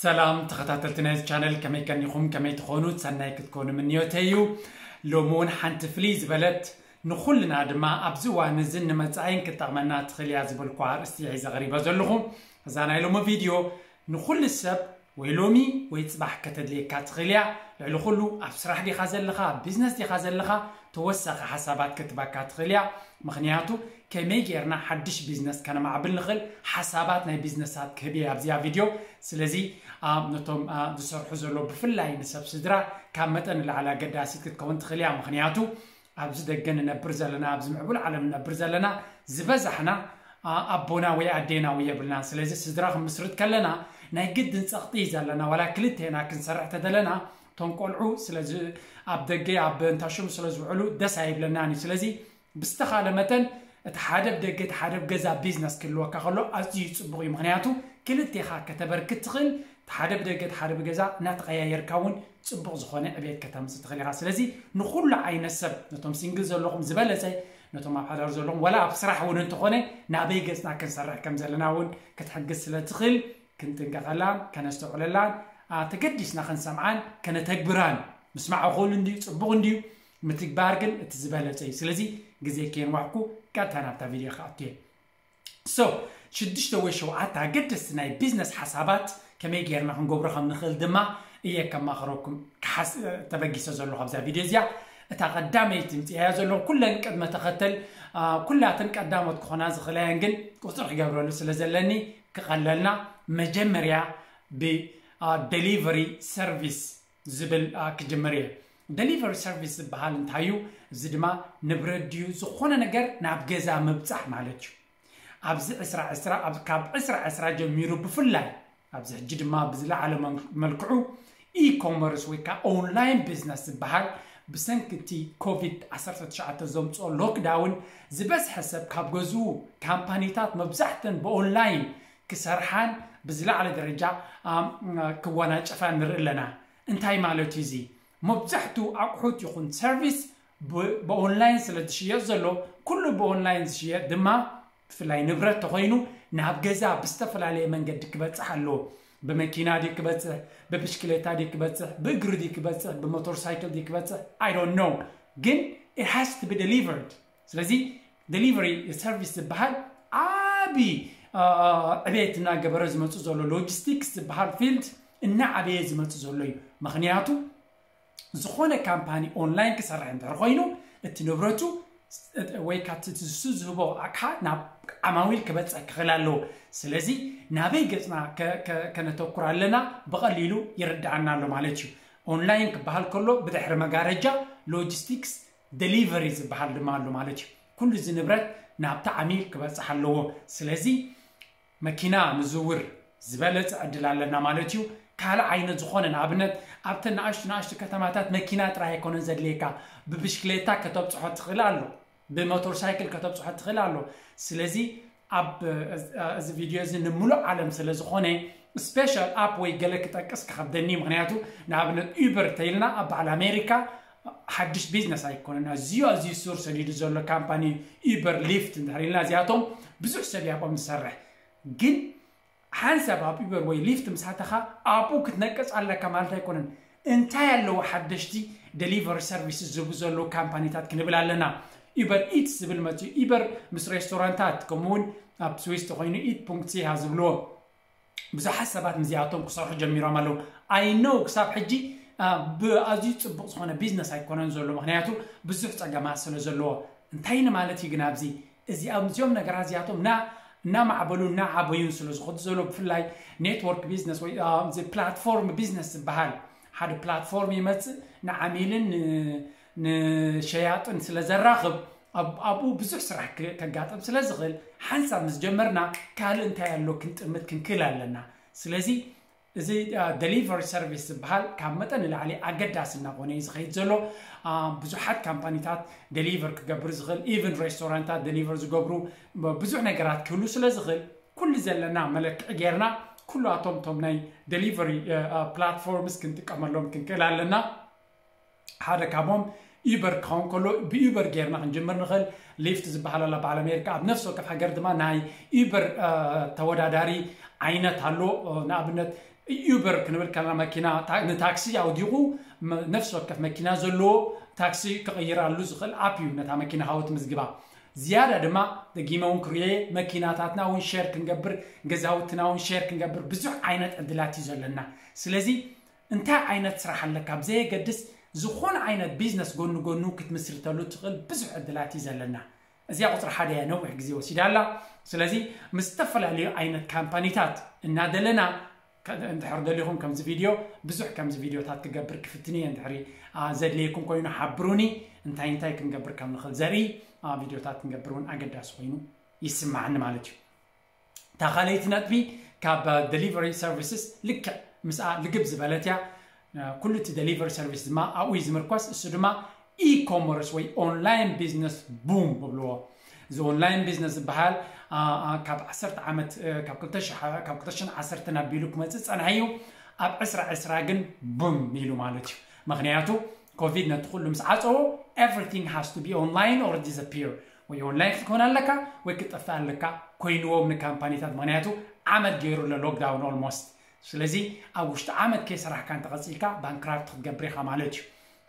ሰላም ተኸታተልቲ ናይዚ ቻነል፣ ከመይ ቀኒኹም? ከመይ ትኾኑ? ሰናይ ክትኮኑ ምንዮተይ እዩ። ሎሚ እውን ሓንቲ ፍልይ ዝበለት ንኹልና ድማ ኣብዚ እዋን እዝን ንመጻኢን ክትጠቕመና ትኽእል እያ ዝበልኩ ኣርእስቲ እየ ሒዘ ቀሪበ ዘለኹ። እዛ ናይ ሎሚ ቪድዮ ንኹሉ ሰብ ወይ ሎሚ ወይ ጽባሕ ከተድልየካ ትኽእል እያ። ልዕሊ ኩሉ ኣብ ስራሕ ዲኻ ዘለኻ፣ ኣብ ቢዝነስ ዲኻ ዘለኻ፣ ተወሳኺ ሓሳባት ክትበካ ትኽእል እያ። ምኽንያቱ ከመይ ጌርና ሓድሽ ቢዝነስ ከነማዕብል ንኽእል ሓሳባት ናይ ቢዝነሳት ክህብ እየ ኣብዚኣ ቪድዮ። ስለዚ ነቶም ዝሰርሑ ዘሎ ብፍላይ ንሰብ ስድራ ካብ መጠን ንላዕሊ ኣገዳሲት ክትከውን ትኽእል እያ። ምኽንያቱ ኣብዚ ደገ ንነብር ዘለና፣ ኣብዚ ምዕቡል ዓለም ንነብር ዘለና ዝበዛሕና ኣቦና ወይ ኣዴና ወይ የብልናን። ስለዚ ስድራ ክንምስርት ከለና ናይ ግድን ጸቕጢ እዩ ዘለና። ዋላ ክልቴና ክንሰርሕ ተደለና እቶም ቆልዑ ስለዚ ኣብ ደገ ኣብ እንታሽሙ ስለ ዝውዕሉ ደስ ኣይብለናን እዩ። ስለዚ ብዝተኻለ መጠን እቲ ሓደ ብደገ እቲ ሓደ ብገዛ ቢዝነስ ክህልወካ ከሎ ኣዝዩ ጽቡቕ እዩ። ምኽንያቱ ክልቴኻ ከተበርክት ትኽእል፣ እቲ ሓደ ብደገ እቲ ሓደ ብገዛ እናተቐያየርካ እውን ጽቡቕ ዝኾነ ዕቤት ከተምጽእ ትኽእል ኢኻ። ስለዚ ንኹሉ ዓይነት ሰብ፣ ነቶም ሲንግል ዘለኹም ዝበለጸ፣ ነቶም ኣብ ሓዳር ዘለኹም፣ ወላ ኣብ ስራሕ እውን እንተኾነ ናበይ ገጽና ክንሰርሕ ከም ዘለና እውን ክትሕግዝ ስለ ትኽእል ክንጥንቀቐላን ከነስተውዕለላን ተገዲስና ክንሰምዓን ከነተግብራን፣ ምስማዕ እኹል እንድዩ ጽቡቕ እንድዩ፣ ምትግባር ግን እቲ ዝበለጸ እዩ። ስለዚ ግዜ ከየንዋሕኩ ቀጥታ ናብታ ቪድዮ ክኣቱ እየ። So ሽዱሽተ ወይ ሸውዓተ ኣገደስቲ ናይ ቢዝነስ ሓሳባት ከመይ ጌርና ክንገብሮ ከም ንኽእል ድማ እየ ከማኽረኩም ተበጊሰ ዘለኹ ኣብዛ ቪድዮ እዚኣ። እታ ቀዳመይቲ ምፅያያ ዘለኹ ኩለን ቅድመ ተኸተል ኩላተን ቀዳሞት ክኾና ዝኽእላ እየን፣ ግን ቁፅሪ ክገብረሉ ስለ ዘለኒ ክቐለልና መጀመርያ ብ delivery service ዝብል ክጅምር እየ። Delivery service ዝበሃል እንታይ እዩ? እዚ ድማ ንብረት ድዩ ዝኾነ ነገር ናብ ገዛ ምብፃሕ ማለት እዩ። ኣብዚ ዕስራ ዕስራ ካብ ዕስራ ዕስራ ጀሚሩ ብፍላይ ኣብዚ ሕጂ ድማ ብዝለዓለ መልክዑ e-commerce ወይ ከዓ ኦንላይን ቢዝነስ ዝበሃል ብሰንኪ እቲ ኮቪድ ዓሰርተ ትሽዓተ ዘምፅኦ ሎክዳውን ዝበዝሐ ሰብ ካብ ገዝኡ ካምፓኒታት መብዛሕተን ብኦንላይን ክሰርሓን ብዝለዓለ ደረጃ ክወናጨፋ ንርኢ ኣለና። እንታይ ማለት እዩ እዚ? መብዛሕቱ ኣቑሑት ይኹን ሰርቪስ ብኦንላይን ስለ ዝሽየጥ ዘሎ ኩሉ ብኦንላይን ዝሽየጥ ድማ ብፍላይ ንብረት ተኾይኑ ናብ ገዛ ብዝተፈላለየ መንገዲ ክበፅሕ ኣለዎ። ብመኪና ድዩ ክበፅሕ፣ ብብሽክሌታ ድዩ ክበፅሕ፣ ብእግሪ ድዩ ክበፅሕ፣ ብሞተር ሳይክል ድዩ ክበፅሕ፣ I don't know፣ ግን it has to be delivered። ስለዚ delivery service ዝበሃል ዓቢ ዕቤት እናገበረ ዝመፁ ዘሎ ሎጂስቲክስ ዝበሃል ፊልድ እናዓበየ ዝመፁ ዘሎ እዩ። ምኽንያቱ ዝኾነ ካምፓኒ ኦንላይን ክሰርሕ እንድሕር ኮይኑ እቲ ንብረቱ ወይ ካብቲ ንሱ ዝህቦ ኣቕሓ ናብ ዓማዊል ክበፅሕ ክኽእል ኣለዎ። ስለዚ ናበይ ገፅና ከነተኩር ኣለና ብቐሊሉ ይርድኣና ኣሎ ማለት እዩ። ኦንላይን ክበሃል ከሎ ብድሕሪ መጋረጃ ሎጂስቲክስ ደሊቨሪ ዝበሃል ድማ ኣሎ ማለት እዩ። ኩሉ እዚ ንብረት ናብቲ ዓሚል ክበፅሕ ኣለዎ። ስለዚ መኪና ንዝውር ዝበለፀ ዕድል ኣለና ማለት እዩ። ካልእ ዓይነት ዝኾነ ንኣብነት ኣብተን ንኣሽቱ ንኣሽቱ ከተማታት መኪና ጥራይ ኣይኮነን ዘድልየካ፣ ብብሽክሌታ ከተብፅሖ ትኽእል ኣሎ፣ ብሞተር ሳይክል ከተብፅሖ ትኽእል ኣሎ። ስለዚ ኣብ እዚ ቪድዮ እዚ ንምሉእ ዓለም ስለ ዝኾነ ስፔሻል ኣፕ ወይ ገለ ክጠቅስ ክኸብደኒ፣ ምክንያቱ ንኣብነት ዩበር ተይልና ኣብ በዓል ኣሜሪካ ሓድሽ ቢዝነስ ኣይኮነን። ኣዝዩ ኣዝዩ ሱር ሰዲዱ ዘሎ ካምፓኒ ዩበር ሊፍት እንድሕር ኢልና እዚኣቶም ብዙሕ ሰብ ያቆም ዝሰርሕ ግን ሓንሳብ ኣብ ዩበር ወይ ሊፍት ምስ ኣተኻ ኣብኡ ክትነቅፅ ኣለካ ማለት ኣይኮነን። እንታይ ኣለዎ ሓደሽቲ ደሊቨሪ ሰርቪስ ዝህቡ ዘለዉ ካምፓኒታት ክንብል ኣለና። ዩበር ኢትስ ዝብል መፅኡ። ዩበር ምስ ሬስቶራንታት ከምኡውን ኣብ ስዊስ ተኮይኑ ኢት ፖንክት ሲሃ ዝብልዎ ብዙሓት ሰባት ምስዚኣቶም ክሰርሑ ጀሚሮም ኣለዉ። I know ክሳብ ሕጂ ብኣዝዩ ፅቡቅ ዝኾነ ቢዝነስ ኣይኮነን ዘሎ፣ ምክንያቱ ብዙሕ ፀገማት ስለ ዘለዎ። እንታይ ንማለት እዩ ግን ኣብዚ እዚኦም እዚኦም ነገራት እዚኣቶም እና እናማዕበሉ እናዓበዩን ስለ ዝኸዱ ዘሎ ብፍላይ ኔትወርክ ቢዝነስ ወይ ፕላትፎርም ቢዝነስ ዝበሃል ሓደ ፕላትፎርም ይመፅእ ንዓሚልን ንሸያጥን ስለ ዘራኽብ ኣብኡ ብዙሕ ስራሕ ከጋጥም ስለ ዝኽእል ሓንሳብ ምስ ጀመርና ካልእ እንታይ ኣሎ ክንጥምት ክንክእል ኣለና። ስለዚ እዚ ደሊቨሪ ሰርቪስ ዝበሃል ካብ መጠን ንላዕሊ ኣገዳሲ እናኾነ እዩ ዝኸይድ ዘሎ። ብዙሓት ካምፓኒታት ደሊቨር ክገብር ዝኽእል ኢቨን ሬስቶራንታት ደሊቨር ዝገብሩ ብዙሕ ነገራት ክህሉ ስለ ዝኽእል ኩሉ ዘለና መለክዒ ጌርና ኩላቶም ቶም ናይ ደሊቨሪ ፕላትፎርምስ ክንጥቀመሎም ክንክእል ኣለና። ሓደ ካብኦም ዩበር ክኸውን ከሎ ብዩበር ጌርና ክንጅምር ንኽእል። ሊፍት ዝበሃል ኣላ በዓል ኣሜሪካ ኣብ ነፍሲ ወከፍ ሃገር ድማ ናይ ዩበር ተወዳዳሪ ዓይነት ኣሎ። ንኣብነት ዩበር ክንብል ከለና መኪና ንታክሲ ኣውዲቑ ነፍሲ ወከፍ መኪና ዘለዎ ታክሲ ክቕይራሉ ዝኽእል ኣፕ እዩ። ነታ መኪና ሃወት ምዝግባ ዝያዳ ድማ ደጊመ እውን ክርዮ መኪናታትና እውን ሸር ክንገብር፣ ገዛውትና እውን ሸር ክንገብር ብዙሕ ዓይነት ዕድላት እዩ ዘለና። ስለዚ እንታይ ዓይነት ስራሕ ኣለካ ብዘየገድስ ዝኾነ ዓይነት ቢዝነስ ጎኒ ጎኑ ክትምስርተሉ ትኽእል ብዙሕ ዕድላት እዩ ዘለና። እዚኣ ቁፅሪ ሓደ እያ፣ ነዊሕ ግዜ ወሲዳ ኣላ። ስለዚ ምስ ዝተፈላለዩ ዓይነት ካምፓኒታት እናደለና እንድሕር ደሊኹም ከምዚ ቪድዮ ብዙሕ ከምዚ ቪድዮታት ክገብር ክፍትን እየ። እንድሕሪ ዘድልየኩም ኮይኑ ሓብሩኒ፣ እንታይ እንታይ ክንገብር ከም ንኽእል ዘርኢ ቪድዮታት ክንገብር እውን ኣገዳሲ ኮይኑ ይስማዓኒ ማለት እዩ። እታ ካልኣይቲ ነጥቢ ካብ ደሊቨሪ ሰርቪስስ ልክዕ ምስኣ ልግብ ዝበለት እያ። ኩሉ እቲ ደሊቨሪ ሰርቪስ ድማ ኣብኡ እዩ ዝምርኮስ። እሱ ድማ ኢኮመርስ ወይ ኦንላይን ቢዝነስ ቡም ብብልዎ። እዚ ኦንላይን ቢዝነስ ዝበሃል ካብ ዓሰርተ ዓመት ካብ ክልተ ሽሕ ኣቢሉ ክመፅእ ፀንሐ እዩ። ኣብ ዕስራ ዕስራ ግን ቡም ኢሉ ማለት እዩ። ምክንያቱ ኮቪድ ነቲ ኩሉ ምስ ዓፀዎ everything has to be online or disappear፣ ወይ ኦንላይን ክትኮን ኣለካ ወይ ክትጠፍእ ኣለካ ኮይንዎም ንካምፓኒታት። ምክንያቱ ዓመት ገይሩ ኣሎ ሎክዳውን ኦልሞስት። ስለዚ ኣብ ውሽጢ ዓመት ከይሰራሕካ እንተቐፂልካ ባንክራፕት ክትገብር ኢኻ ማለት እዩ።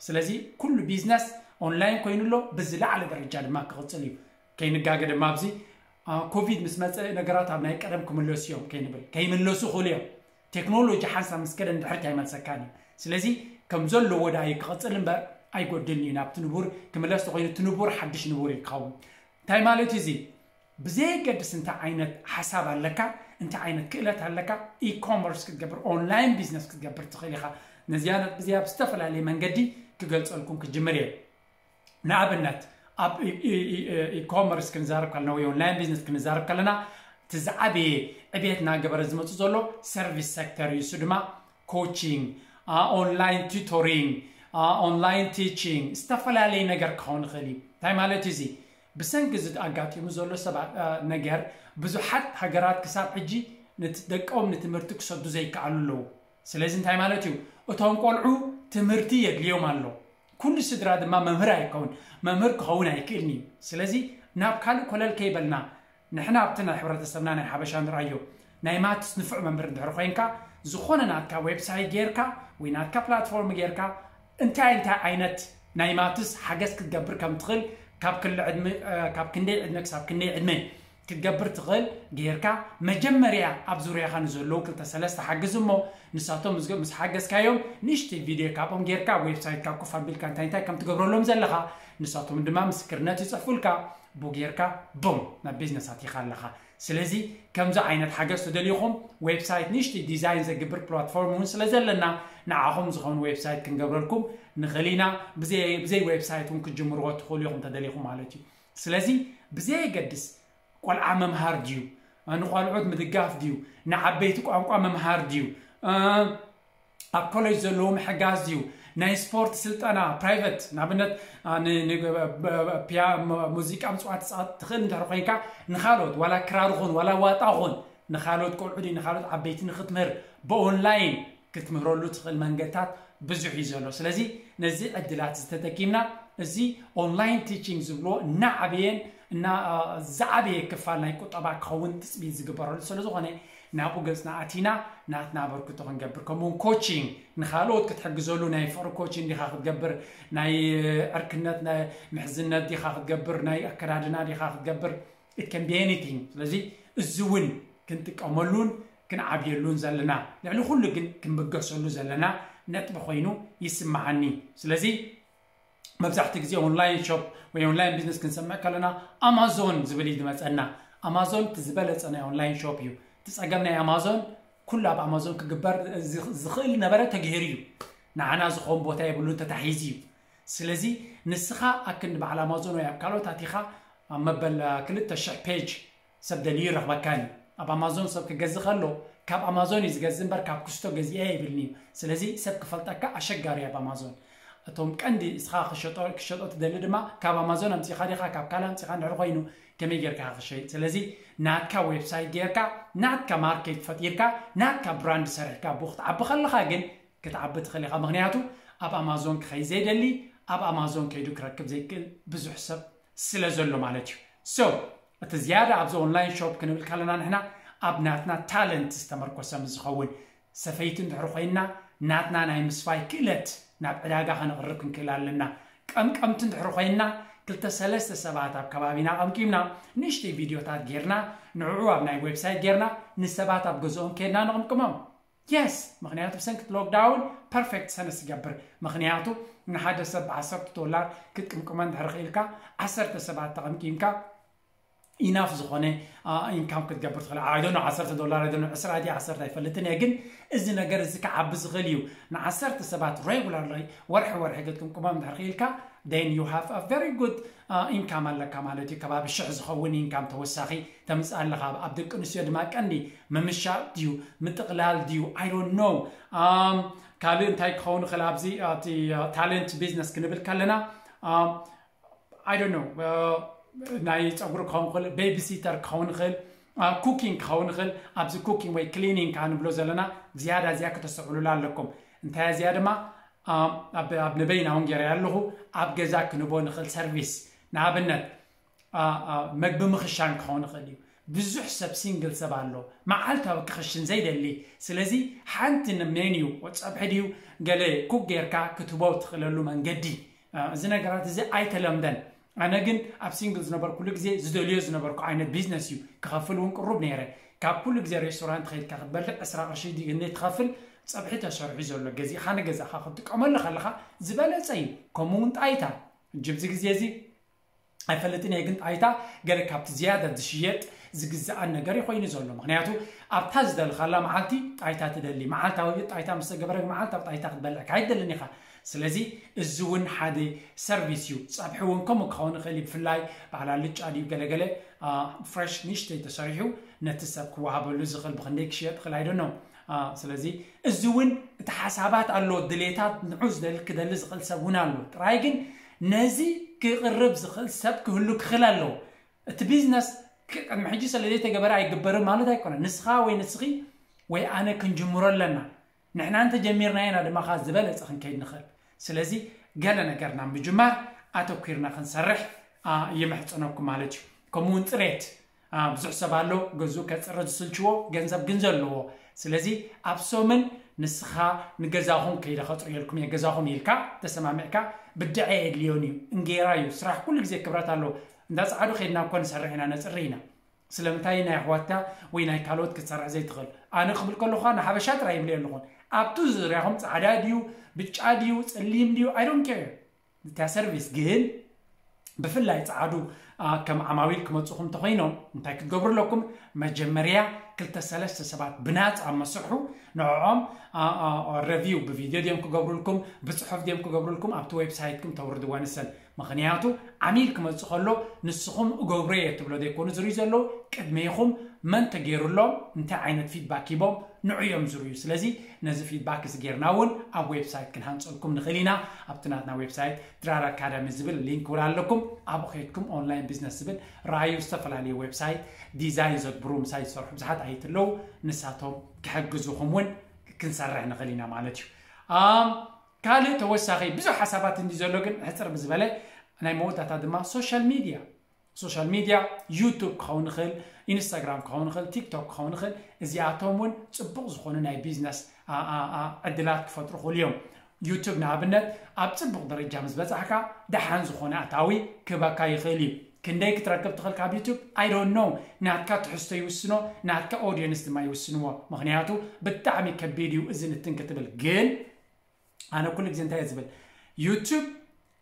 ስለዚ ኩሉ ቢዝነስ ኦንላይን ኮይኑ ኣሎ፣ ብዝለዓለ ደረጃ ድማ ክቕፅል እዩ። ከይንጋገ ድማ ኣብዚ ኮቪድ ምስ መፀ ነገራት ኣብ ናይ ቀደም ክምለሱ እዮም ከይንብል፣ ከይምለሱ ይኽእሉ እዮም። ቴክኖሎጂ ሓንሳብ ምስ ከደ ንድሕሪት ኣይመልሰካን እዩ። ስለዚ ከም ዘለዎ ዳ እዩ ክቕፅል እምበር ኣይጎድልን እዩ። ናብቲ ንቡር ክምለስ ተኮይኑ እቲ ንቡር ሓድሽ ንቡር እዩ ክኸውን። እንታይ ማለት እዩ እዚ? ብዘየገድስ እንታይ ዓይነት ሓሳብ ኣለካ፣ እንታይ ዓይነት ክእለት ኣለካ፣ ኢኮመርስ ክትገብር ኦንላይን ቢዝነስ ክትገብር ትኽእል ኢኻ። ነዚያ ነጥቢ እዚኣ ብዝተፈላለየ መንገዲ ክገልፀልኩም ክጅምር እየ። ንኣብነት ኣብ ኢኮመርስ ክንዛረብ ከለና ወይ ኦንላይን ቢዝነስ ክንዛረብ ከለና እቲ ዝዓበየ ዕብየት እናገበረ ዝመፁ ዘሎ ሰርቪስ ሴክተር እዩ። እሱ ድማ ኮቺንግ፣ ኦንላይን ቱቶሪንግ፣ ኦንላይን ቲቺንግ፣ ዝተፈላለየ ነገር ክኸውን ይኽእል እዩ። እንታይ ማለት እዩ እዚ? ብሰንኪ እዚ ኣጋጢሙ ዘሎ ሰባት ነገር ብዙሓት ሃገራት ክሳብ ሕጂ ደቆም ንትምህርቲ ክሰዱ ዘይከኣሉ ኣለዉ። ስለዚ እንታይ ማለት እዩ? እቶም ቆልዑ ትምህርቲ የድልዮም ኣሎ። ኩሉ ስድራ ድማ መምህር ኣይከውን፣ መምህር ክኸውን ኣይክእልን እዩ። ስለዚ ናብ ካልእ ኮለል ከይበልና ንሕና ኣብቲ ናይ ሕብረተሰብና ናይ ሓበሻ ንርኣዮ ናይ ማትስ ንፉዕ መምህር እንድሕር ኮይንካ ዝኾነ ናትካ ዌብሳይት ጌርካ ወይ ናትካ ፕላትፎርም ጌርካ እንታይ እንታይ ዓይነት ናይ ማትስ ሓገዝ ክትገብር ከም ትኽእል ካብ ክሊ ዕድመ ካብ ክንደይ ዕድመ ክሳብ ክንደይ ዕድመ ክትገብር ትኽእል ጌርካ መጀመርያ ኣብ ዙርያኻ ንዘለዉ ክልተ ሰለስተ ሓግዝ እሞ ንሳቶም ምስ ሓገዝካዮም ንእሽተይ ቪድዮ ካብኦም ጌርካ ዌብሳይትካ ኮፍ ኣቢልካ እንታይ እንታይ ከም ትገብረሎም ዘለኻ ንሳቶም ድማ ምስክርነት ይፅሕፉልካ። ቡ ጌርካ ቡም ናብ ቢዝነስ ኣቲኻ ኣለኻ። ስለዚ ከምዚ ዓይነት ሓገዝ ተደሊኹም ዌብሳይት ንእሽተይ ዲዛይን ዘግብር ፕላትፎርም እውን ስለ ዘለና ንዓኹም ዝኸውን ዌብሳይት ክንገብረልኩም ንኽእል ኢና። ብዘይ ዌብሳይት እውን ክትጅምርዎ ትኽእሉ ኢኹም ተደሊኹም ማለት እዩ። ስለዚ ብዘየገድስ ቆልዓ ምምሃር ድዩ፣ ንቆልዑት ምድጋፍ ድዩ፣ ንዓበይቲ ቋንቋ ምምሃር ድዩ፣ ኣብ ኮሌጅ ዘለዉ ምሕጋዝ ድዩ፣ ናይ ስፖርት ስልጠና ፕራይቨት ንኣብነት ሙዚቃ ምፅዋት ትኽእል እንድሕር ኮይንካ ንካልኦት ዋላ ክራር ኹን ዋላ ዋጣ ኹን ንካልኦት ቆልዑ ድዩ ንካልኦት ዓበይቲ ንክትምህር ብኦንላይን ክትምህረሉ ትኽእል መንገድታት ብዙሕ እዩ ዘሎ። ስለዚ ነዚ ዕድላት ዝተጠቂምና እዚ ኦንላይን ቲቺንግ ዝብልዎ እናዓበየን እና ዝዓበየ ክፋል ናይ ቁጠባ ክኸውን ትፅቢት ዝግበረሉ ስለ ዝኾነ ናብኡ ገፅና ኣቲና ናትና ኣበርክቶ ክንገብር ከምኡውን ኮቺንግ ንካልኦት ክትሕግዘሉ ናይ ፍቅሪ ኮቺንግ ዲኻ ክትገብር ናይ ዕርክነት ምሕዝነት ዲኻ ክትገብር ናይ ኣከዳድና ዲኻ ክትገብር it can be anything። ስለዚ እዚ እውን ክንጥቀመሉን ክንዓብየሉን ዘለና ልዕሊ ኩሉ ግን ክንብገሰሉ ዘለና ነጥቢ ኮይኑ ይስምዓኒ። ስለዚ መብዛሕትኡ ግዜ ኦንላይን ሾፕ ወይ ኦንላይን ቢዝነስ ክንሰምዕ ከለና ኣማዞን ዝብል እዩ ዝመፀና። ኣማዞን እቲ ዝበለፀ ናይ ኦንላይን ሾፕ እዩ። እቲ ፀገም ናይ ኣማዞን ኩሉ ኣብ ኣማዞን ክግበር ዝኽእል ነበረ ተገይሩ እዩ። ንዓና ዝኸውን ቦታ የብሉን ተታሒዙ እዩ። ስለዚ ንስኻ ኣክንዲ በዓል ኣማዞን ወይ ኣብ ካልኦት ኣቲኻ ኣብ መበል ክልተ ሽሕ ፔጅ ሰብ ደልዩ ይረኽበካን እዩ። ኣብ ኣማዞን ሰብ ክገዝእ ከሎ ካብ ኣማዞን እዩ ዝገዝእ እምበር ካብ ክስቶ ገዚአ ይብልኒ እዩ። ስለዚ ሰብ ክፈልጠካ ኣሸጋሪ ኣብ ኣማዞን። እቶም ቀንዲ እስኻ ክሸጦ ትደሊ ድማ ካብ ኣማዞን ኣምፂኻ ዲኻ ካብ ካልእ ኣምፂኻ እንድሕር ኮይኑ ከመይ ጌርካ ክሸይጥ? ስለዚ ናትካ ዌብሳይት ጌርካ ናትካ ማርኬት ፈጢርካ ናትካ ብራንድ ሰሪሕካ ብኡ ክትዓቢ ከለኻ ግን ክትዓቢ ትኽእል ኢኻ። ምክንያቱ ኣብ ኣማዞን ክኸይ ዘይደሊ ኣብ ኣማዞን ከይዱ ክረክብ ዘይክእል ብዙሕ ሰብ ስለ ዘሎ ማለት እዩ። So እቲ ዝያዳ ኣብዚ ኦንላይን ሾፕ ክንብል ከለና ንሕና ኣብ ናትና ታለንት ዝተመርኮሰ ምስ ዝኸውን፣ ሰፈይቲ እንድሕር ኮይና ናትና ናይ ምስፋይ ክእለት ናብ ዕዳጋ ከነቕርብ ክንክእል ኣለና። ቀምቀምቲ እንድሕር ኮይና ክልተ ሰለስተ ሰባት ኣብ ከባቢና ቀምቂምና ንእሽተይ ቪድዮታት ጌርና ንዕዑ ኣብ ናይ ዌብሳይት ጌርና ንሰባት ኣብ ገዝኦም ከድና ንቕምቅሞም። የስ፣ ምክንያቱ ብሰንኪ ሎክዳውን ፐርፌክት ሰነስ ይገብር። ምክንያቱ ንሓደ ሰብ ብዓሰርተ ዶላር ክትቅምቅመ እንድሕር ክኢልካ ዓሰርተ ሰባት ተቐምቂምካ ኢናፍ ዝኾነ ኢንካም ክትገብር ትኽእል። I don't know፣ ዓሰርተ ዶላር፣ I don't know፣ ዕስራ ድዩ ዓሰርተ ኣይፈልጥን እየ፣ ግን እዚ ነገር እዚ ክዓቢ ዝኽእል እዩ። ንዓሰርተ ሰባት ሬጉላር ወርሒ ወርሒ ክትቅምቅሞም እንድሕር ክኢልካ then you have a very good ኢንካም ኣለካ ማለት እዩ። ከባቢ ሽሕ ዝኸውን ኢንካም ተወሳኺ ተምፅእ ኣለኻ። ኣብ ደቂ ኣንስትዮ ድማ ቀንዲ ምምሻጥ ድዩ ምጥቕላል ድዩ I don't know። ካልእ እንታይ ክኸውን ይኽእል ኣብዚ ታለንት ቢዝነስ ክንብል ከለና I don't know፣ ናይ ፀጉሪ ክኸውን ይኽእል፣ ቤቢሲተር ክኸውን ይኽእል፣ ኩኪንግ ክኸውን ይኽእል። ኣብዚ ኩኪንግ ወይ ክሊኒንግ ከዓ ንብሎ ዘለና ዝያዳ እዚኣ ክተስተውዕሉላ ኣለኩም። እንታይ እዚኣ ድማ ኣብ ንበይና እውን ገይረ ኣለኹ። ኣብ ገዛ ክንቦ ንኽእል ሰርቪስ፣ ንኣብነት መግቢ ምኽሻን ክኸውን ይኽእል እዩ። ብዙሕ ሰብ ሲንግል ሰብ ኣሎ መዓልታዊ ክኽሽን ዘይደሊ። ስለዚ ሓንቲ ሜንዩ፣ ፀብሒ ድዩ ገለ ኩክ ጌርካ ክትቦ ትኽእለሉ መንገዲ፣ እዚ ነገራት እዚ ኣይተለምደን። ኣነ ግን ኣብ ሲንግል ዝነበርኩሉ ግዜ ዝደልዮ ዝነበርኩ ዓይነት ቢዝነስ እዩ። ክኸፍል እውን ቅሩብ ነይረ። ካብ ኩሉ ግዜ ሬስቶራንት ከይድካ ክትበልዕ ዕስራ ቅርሺ ድዩ እንዴ ትኸፍል? ፀብሒ ተሰርሑ ዘሎ ገዚእኻ ንገዛኻ ክትጥቀመሉ ከለኻ ዝበለፀ እዩ። ከምኡ እውን ጣይታ፣ እጅ ብዚ ግዜ እዚ ኣይፈልጥን እየ፣ ግን ጣይታ ገለ ካብቲ ዝያዳ ዝሽየጥ ዝግዝኣን ነገር እዩ ኮይኑ ዘሎ። ምክንያቱ ኣብታ ዝደልኻላ መዓልቲ ጣይታ ትደሊ፣ መዓልታዊ ጣይታ ምስ ተገበረ መዓልታዊ ጣይታ ክትበልዕ ካይደልን ኢኻ። ስለዚ እዚ እውን ሓደ ሰርቪስ እዩ። ፀብሒ እውን ከምኡ ክኸውን ይኽእል እዩ። ብፍላይ በዓል ኣልጫ ድዩ ገለገለ ፍሬሽ ንእሽተይ ተሰሪሑ ነቲ ሰብ ክወሃበሉ ዝኽእል ብክንደይ ክሽየጥ ይኽእል ኣይደኖ። ስለዚ እዚ እውን እቲ ሓሳባት ኣሎ፣ ድሌታት ንዑ ዝደሊ ክደሊ ዝኽእል ሰብ እውን ኣሎ። ጥራይ ግን ነዚ ክቕርብ ዝኽእል ሰብ ክህሉ ክኽእል ኣለዎ። እቲ ቢዝነስ ቅድሚ ሕጂ ስለ ዘይተገበረ ኣይግበርን ማለት ኣይኮነን። ንስኻ ወይ ንስኺ ወይ ኣነ ክንጅምሮ ኣለና። ንሕና እንተጀሚርናዮ ኢና ድማ ከኣ ዝበለጸ ክንከይድ ንኽእል። ስለዚ ገለ ነገር ናብ ምጅማር ኣተኲርና ክንሰርሕ ይምሕጸነኩም ማለት እዩ። ከምኡ እውን ጽሬት፣ ብዙሕ ሰብ ኣሎ ገዝኡ ከጽሪ ዝስልችዎ፣ ገንዘብ ግን ዘለዎ። ስለዚ ኣብ ሰሙን ንስኻ ንገዛኹም ከይደ ከጽርየልኩም እየ፣ ገዛኹም ኢልካ ተሰማሚዕካ፣ ብድዐ የድልዮን እዩ፣ እንጌራ እዩ፣ ስራሕ ኩሉ ግዜ ክብረት ኣለዎ። እንዳ ጸዓዱ ከይድና እኮ ንሰርሕ ኢና፣ ነጽሪ ኢና። ስለምንታይ ናይ ኣሕዋትካ ወይ ናይ ካልኦት ክትሰርሕ ዘይትኽእል? ኣነ ክብል ከለኹ ንሓበሻ ጥራይ ይብል ኣለኹን። ኣብቲ ዙርያኹም ጻዕዳ ድዩ፣ ብጫ ድዩ፣ ጸሊም ድዩ፣ I don't care። እታ ሰርቪስ ግን ብፍላይ ጻዕዱ ከም ዓማዊል ክመጽኹም እንተኾይኖም እንታይ ክትገብሩ ኣለኩም? መጀመርያ ክልተ ሰለስተ ሰባት ብናጻ መስርሑ፣ ንዕኦም ረቪው ብቪድዮ ድዮም ክገብሩልኩም፣ ብጽሑፍ ድዮም ክገብሩልኩም፣ ኣብቲ ዌብሳይትኩም ተውርድዋ ንሰን። ምኽንያቱ ዓሚል ክመጽእ ከሎ ንስኹም እገብሮ እየ ትብሎ ዘይኮኑ ዝርዩ ዘለዉ፣ ቅድሜኹም መን ተገይሩሎም እንታይ ዓይነት ፊድባክ ሂቦም ንዑ እዮም ዝርዩ። ስለዚ ነዚ ፊድባክ እዚ ጌርና እውን ኣብ ዌብሳይት ክንሃንፀልኩም ንኽእል ኢና። ኣብቲ ናትና ዌብሳይት ድራር ኣካዳሚ ዝብል ሊንክ እውን ኣለኩም። ኣብኡ ከይድኩም ኦንላይን ቢዝነስ ዝብል ረኣዩ። ዝተፈላለዩ ዌብሳይት ዲዛይን ዘግብሩ ምሳይ ዝሰርሑ ብዙሓት ኣይትለዉ፣ ንሳቶም ክሕግዙኹም እውን ክንሰርሕ ንኽእል ኢና ማለት እዩ። ካልእ ተወሳኺ ብዙሕ ሓሳባት እንዲ ዘሎ ግን ሕፅር ብዝበለ ናይ መወዳእታ ድማ ሶሻል ሚድያ ሶሻል ሚድያ ዩቱብ ክኸውን ይኽእል፣ ኢንስታግራም ክኸውን ይኽእል፣ ቲክቶክ ክኸውን ይኽእል። እዚኣቶም እውን ፅቡቕ ዝኾኑ ናይ ቢዝነስ ዕድላት ክፈጥሩ ይኽእሉ እዮም። ዩቱብ ንኣብነት ኣብ ፅቡቕ ደረጃ ምስ በፃሕካ ደሓን ዝኾነ ኣታዊ ክህበካ ይኽእል እዩ። ክንደይ ክትረክብ ትኽእል ካብ ዩቱብ? I don't know። ናትካ ትሕዝቶ ይውስኖ፣ ናትካ ኦዲየንስ ድማ ይውስንዎ። ምኽንያቱ ብጣዕሚ ከቢድ እዩ እዚ ንትን ክትብል። ግን ኣነ ኩሉ ግዜ እንታይ እየ ዝብል? ዩቱብ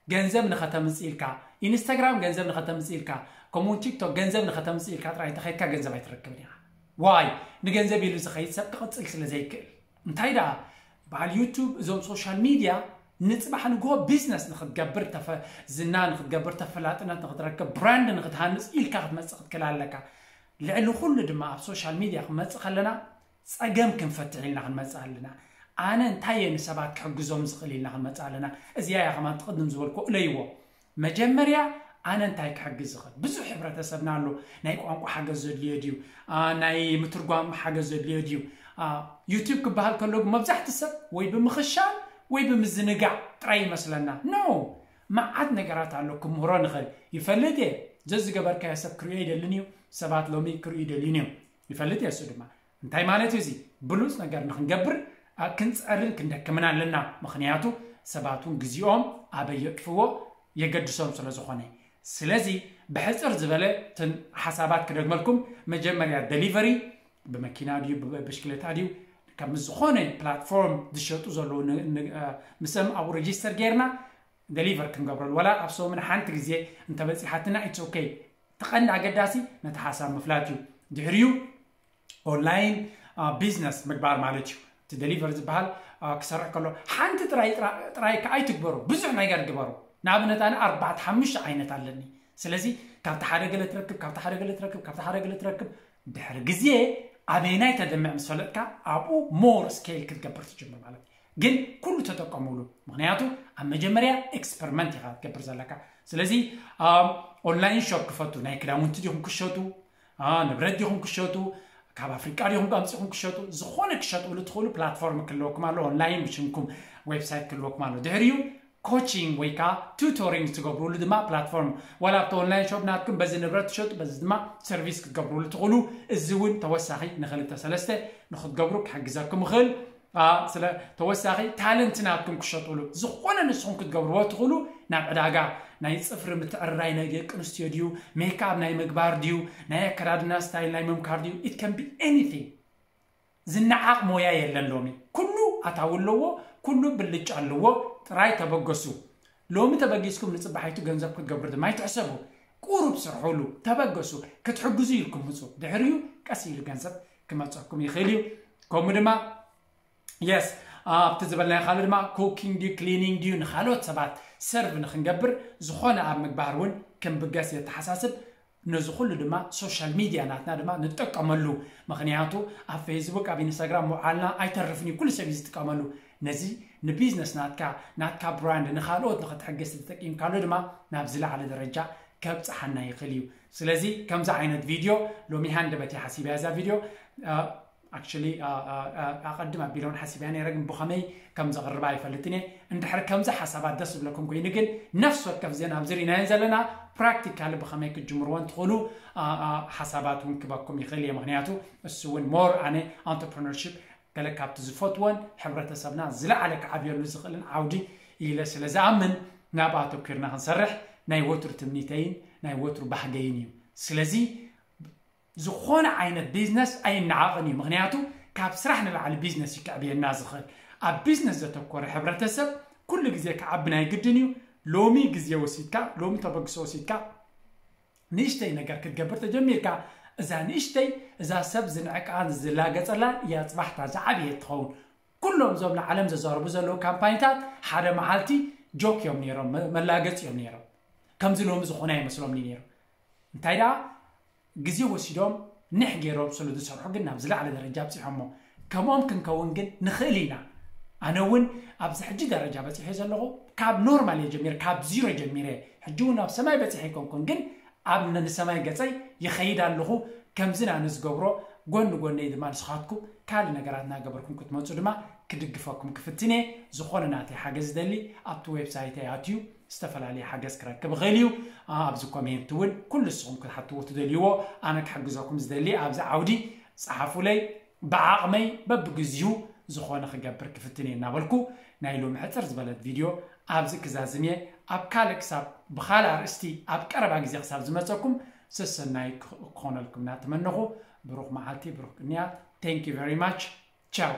ገንዘብ ንኸተምፅእ ኢልካ፣ ኢንስታግራም ገንዘብ ንኸተምፅእ ኢልካ፣ ከምኡውን ቲክቶክ ገንዘብ ንኸተምፅእ ኢልካ ጥራይ እንተኸይድካ ገንዘብ ኣይትረክብን ኢኻ። ዋይ? ንገንዘብ ኢሉ ዝኸይድ ሰብ ክቕፅል ስለ ዘይክእል። እንታይ ደኣ በዓል ዩቱብ፣ እዞም ሶሻል ሚድያ ንፅባሕ ንግሆ ቢዝነስ ንክትገብር፣ ዝና ንክትገብር፣ ተፈላጥነት ንክትረክብ፣ ብራንድ ንክትሃንፅ ኢልካ ክትመፅእ ክትክእል ኣለካ። ልዕሊ ኩሉ ድማ ኣብ ሶሻል ሚድያ ክንመፅእ ከለና ፀገም ክንፈትሕ ኢልና ክንመፅእ ኣለና። ኣነ እንታይ እየ ንሰባት ክሕግዞም ዝኽእል ኢልና ክንመፅእ ኣለና። እዚኣ እያ ከማን ትቕድም ዝበልኩ እለይዎ። መጀመርያ ኣነ እንታይ ክሕግዝ ዝኽእል? ብዙሕ ሕብረተሰብና ኣሎ። ናይ ቋንቋ ሓገዝ ዘድልዮ ድዩ? ናይ ምትርጓም ሓገዝ ዘድልዮ ድዩ? ዩቱብ ክበሃል ከሎ ግን መብዛሕቲ ሰብ ወይ ብምኽሻል ወይ ብምዝንጋዕ ጥራይ ይመስለና። ኖ፣ መዓት ነገራት ኣሎ ክምህሮ ንኽእል። ይፈልጥ እየ፣ ዘዝገበርካዮ ሰብ ክርእዮ ይደልን እዩ። ሰባት ሎሚ ክርእዩ ይደልዩን እዮም። ይፈልጥ እየ። እሱ ድማ እንታይ ማለት እዩ? እዚ ብሉፅ ነገር ንክንገብር ኣ፣ ክንፅዕርን ክንደክምን ኣለና። ምክንያቱ ሰባት እውን ግዜኦም ኣበይ የጥፍዎ የገድሶም ስለ ዝኾነ። ስለዚ ብሕፅር ዝበለ እተን ሓሳባት ክደግመልኩም፣ መጀመርያ ደሊቨሪ ብመኪና ድዩ ብብሽክሌታ ድዩ ካብ ዝኾነ ፕላትፎርም ዝሸጡ ዘለዉ ን- ን- ኣ፣ ምስኦም ኣብኡ ሬጂስተር ጌርና ደሊቨር ክንገብረሉ፣ ወላ ኣብ ሰሙን ሓንቲ ግዜ እንተበፂሓትና ኢትስ ኦኬ። እቲ ቀንዲ ኣገዳሲ ነቲ ሓሳብ ምፍላጥ እዩ። ድሕሪኡ ኦንላይን ቢዝነስ ምግባር ማለት እዩ። እቲ ደሊቨር ዝበሃል ኣ፣ ክሰርሕ ከሎ ሓንቲ ጥራይ ጥራ- ጥራይ ከኣ ኣይትግበሩ፣ ብዙሕ ነገር ግበሩ። ንኣብነት ኣነ ኣርባዕተ ሓሙሽተ ዓይነት ኣለኒ። ስለዚ ካብቲ ሓደ ገለ ትረክብ፣ ካብቲ ሓደ ገለ ትረክብ፣ ካብቲ ሓደ ገለ ትረክብ፣ ድሕሪ ግዜ ኣበይናይ ተደምዕ ምስ ፈለጥካ ኣብኡ ሞር ስኬል ክትገብር ትጅምር ማለት እዩ። ግን ኩሉ ተጠቀሙሉ። ምክንያቱ ኣብ መጀመርያ ኤክስፐሪመንት ኢኻ ክትገብር ዘለካ። ስለዚ ኦንላይን ሾፕ ክፈቱ፣ ናይ ክዳውንቲ ዲኹም ክሸጡ፣ ኣ፣ ንብረት ዲኹም ክሸጡ፣ ካብ ኣፍሪቃ ዲኹም ኣምፂኹም ክሸጡ፣ ዝኾነ ክሸጥሉ ትኽእሉ ፕላትፎርም ክህልወኩም ኣሎ። ኦንላይን ብሽምኩም ዌብሳይት ክህልወኩም ኣሎ። ድሕሪኡ ኮቺንግ ወይ ከዓ ቱቶሪንግ ትገብሩሉ ድማ ፕላትፎርም፣ ዋላ ኣብቲ ኦንላይን ሾፕ ናትኩም በዚ ንብረት ትሸጡ፣ በዚ ድማ ሰርቪስ ክትገብሩሉ ትኽእሉ። እዚ እውን ተወሳኺ ንክልተ ሰለስተ ንክትገብሩ ክሕግዘኩም ይኽእል። ኣ፣ ስለ ተወሳኺ ታለንት ናትኩም ክሸጥሉ፣ ዝኾነ ንስኹም ክትገብርዎ ትኽእሉ። ናብ ዕዳጋ ናይ ፅፍሪ ምትዕርራይ ናይ ደቂ ኣንስትዮ ድዩ፣ ሜክኣፕ ናይ ምግባር ድዩ፣ ናይ ኣከዳድና ስታይል ናይ ምምካር ድዩ፣ it can be anything። ዝነዓቕ ሞያ የለን ሎሚ። ኩሉ ኣታዊ ኣለዎ፣ ኩሉ ብልጫ ኣለዎ። ጥራይ ተበገሱ። ሎሚ ተበጊስኩም ንፅባሒቱ ገንዘብ ክትገብሩ ድማ ኣይትሕሰቡ። ቁሩብ ስርሑሉ፣ ተበገሱ። ክትሕግዙ ኢልኩም ምፁ። ድሕሪኡ ቀስ ኢሉ ገንዘብ ክመፀኩም ይኽእል እዩ። ከምኡ ድማ የስ ኣብቲ ዝበልናዮ ካልእ ድማ ኩኪንግ ድዩ ክሊኒንግ ድዩ ንካልኦት ሰባት ሰርቭ ንክንገብር ዝኾነ ኣብ ምግባር እውን ክንብገስ የተሓሳስብ። ነዚ ኩሉ ድማ ሶሻል ሚድያ ናትና ድማ ንጥቀመሉ። ምክንያቱ ኣብ ፌስቡክ ኣብ ኢንስታግራም ምውዓልና ኣይተርፍን እዩ፣ ኩሉ ሰብ እዩ ዝጥቀመሉ። ነዚ ንቢዝነስ ናትካ ናትካ ብራንድ ንካልኦት ንክትሕግዝ ተጠቂምካሉ ድማ ናብ ዝለዓለ ደረጃ ከብፅሓና ይኽእል እዩ። ስለዚ ከምዚ ዓይነት ቪድዮ ሎሚ ሃንደበት እየ ሓሲበያ እዛ ቪድዮ። ኣክቹሊ ኣቐድም ኣቢለ እውን ሓሲበያ ነይረ፣ ግን ብኸመይ ከም ዘቕርባ ኣይፈልጥን እየ። እንድሕር ከምዚ ሓሳባት ደስ ዝብለኩም ኮይኑ ግን ነፍሲ ወከፍ እዘን ኣብዚ ርኢናየን ዘለና ፕራክቲካሊ ብኸመይ ክትጅምርወን ትኽእሉ ሓሳባት እውን ክበኩም ይኽእል እየ። ምክንያቱ እሱ እውን ሞር ኣነ ኣንተርፕረነርሺፕ ገለ ካብቲ ዝፈትወን ሕብረተሰብና ዝለዓለ ክዓብየሉ ዝኽእልን ዓውዲ ኢለ ስለ ዝኣምን ናብ ኣተኲርና ክንሰርሕ ናይ ወትሩ ትምኒተይን ናይ ወትሩ ባህገይን እዩ። ስለዚ ዝኾነ ዓይነት ቢዝነስ ኣይነዓቕን እዩ። ምክንያቱ ካብ ስራሕ ንላዕሊ ቢዝነስ እዩ ክዕብየና ዝኽእል። ኣብ ቢዝነስ ዘተኮረ ሕብረተሰብ ኩሉ ግዜ ክዓቢ ናይ ግድን እዩ። ሎሚ ግዜ ወሲድካ፣ ሎሚ ተበግሶ ወሲድካ ንእሽተይ ነገር ክትገብር ተጀሚርካ፣ እዛ ንእሽተይ እዛ ሰብ ዝንዕቃን ዝላገጸላ እያ ጽባሕታ ዝዓብየት ትኸውን። ኩሎም እዞም ንዓለም ዘዛርቡ ዘለዉ ካምፓኒታት ሓደ መዓልቲ ጆክ እዮም ነይሮም፣ መ- መላገጺ እዮም ነይሮም። ከምዚ ሎሚ ዝኾነ ኣይመስሎም ነይሩ። እንታይ ደኣ ግዜ ወሲዶም ንሕ ገይሮም ስለ ዝሰርሑ ግን ናብ ዝለዓለ ደረጃ ኣብፂሖሞ። ከምኦም ክንከውን ግን ንኽእል ኢና። ኣነ እውን ኣብዚ ሕጂ ደረጃ በፂሐ ዘለኹ ካብ ኖርማል እየ ጀሚረ፣ ካብ ዚሮ ጀሚረ። ሕጂ እውን ኣብ ሰማይ በፂሐ ኣይኮንኩን፣ ግን ኣብ ነ- ንሰማይ ገፀይ ይኸይድ ኣለኹ። ከምዚ ኣነ ዝገብሮ ጎኒ ጎነይ ድማ ንስኻትኩም ካልእ ነገራት እናገበርኩም ክትመፁ ድማ ክድግፈኩም ክፍትን እየ። ዝኾነ ናተይ ሓገዝ ዝደሊ ኣብቲ ዌብሳይተይ ኣትዩ ዝተፈላለየ ሓገዝ ክረክብ ይኽእል እዩ። ኣብዚ ኮሜንት እውን ኩሉ ንስኹም ክትሓትዎ ትደልይዎ ኣነ ክሕግዘኩም ዝደሊ ኣብዚ ዓውዲ ፀሓፉለይ። ብዓቕመይ በብግዚኡ ዝኾነ ክገብር ክፍትን እየ እናበልኩ ናይ ሎሚ ሕፅር ዝበለት ቪድዮ ኣብዚ ክዛዝም እየ። ኣብ ካልእ ክሳብ ብኻልእ ኣርእስቲ ኣብ ቀረባ ግዜ ክሳብ ዝመፀኩም ሰሰናይ ክኾነልኩም እናተመነኹ ብሩኽ መዓልቲ ብሩኽ ቅንያት። Thank you very much. ቻው።